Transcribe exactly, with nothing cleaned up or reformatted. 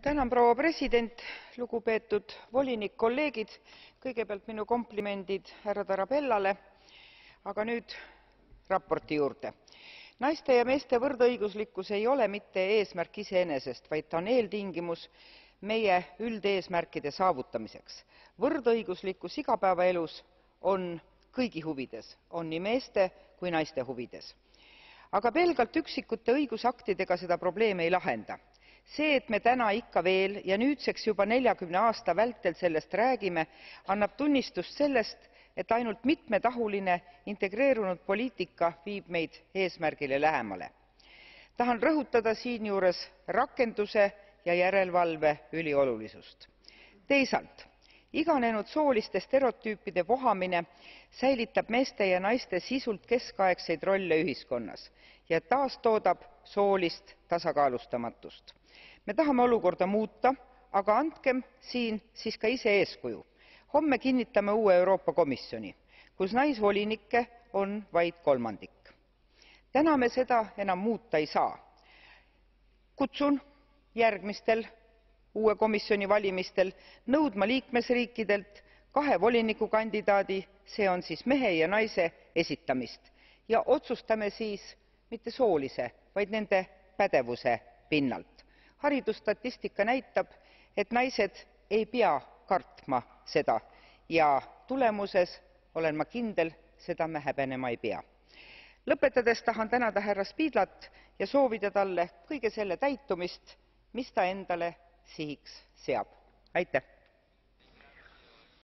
Tänan, proua president, lugupeetud volinik, kolleegid, kõigepealt minu komplimendid härra Tarabellale, aga nüüd raporti juurde. Naiste ja meeste võrdõiguslikkus ei ole mitte eesmärk iseenesest, vaid ta on eeltingimus meie üldeesmärkide saavutamiseks. Võrdõiguslikkus igapäevaelus on kõigi huvides, on nii meeste kui naiste huvides. Aga pelgalt üksikute õigusaktidega seda probleemi ei lahenda. See, et me täna ikka veel ja nüüdseks juba neljakümne aasta vältel sellest räägime, annab tunnistust sellest, et ainult mitmetahuline integreerunud poliitika viib meid eesmärgile lähemale. Tahan rõhutada siinjuures rakenduse ja järelevalve üliolulisust. Teisalt, iganenud sooliste stereotüüpide vohamine säilitab meeste ja naiste sisult keskaegseid rolle ühiskonnas ja taastoodab soolist tasakaalustamatust. Me tahame olukorda muuta, aga andkem siin siis ka ise eeskuju. Homme kinnitame uue Euroopa Komisjoni, kus naisvolinikke on vaid kolmandik. Täna me seda enam muuta ei saa. Kutsun järgmistel uue komisjoni valimistel nõudma liikmesriikidelt kahe volinikukandidaadi, see on siis mehe ja naise esitamist, ja otsustame siis mitte soolise, vaid nende pädevuse pinnalt. Haridusstatistika näitab, et naised ei pea kartma seda ja tulemuses, olen ma kindel, seda me häbenema ei pea. Lõpetades tahan tänada härra Špidlat ja soovida talle kõige selle täitumist, mis ta endale sihiks seab. Aitäh!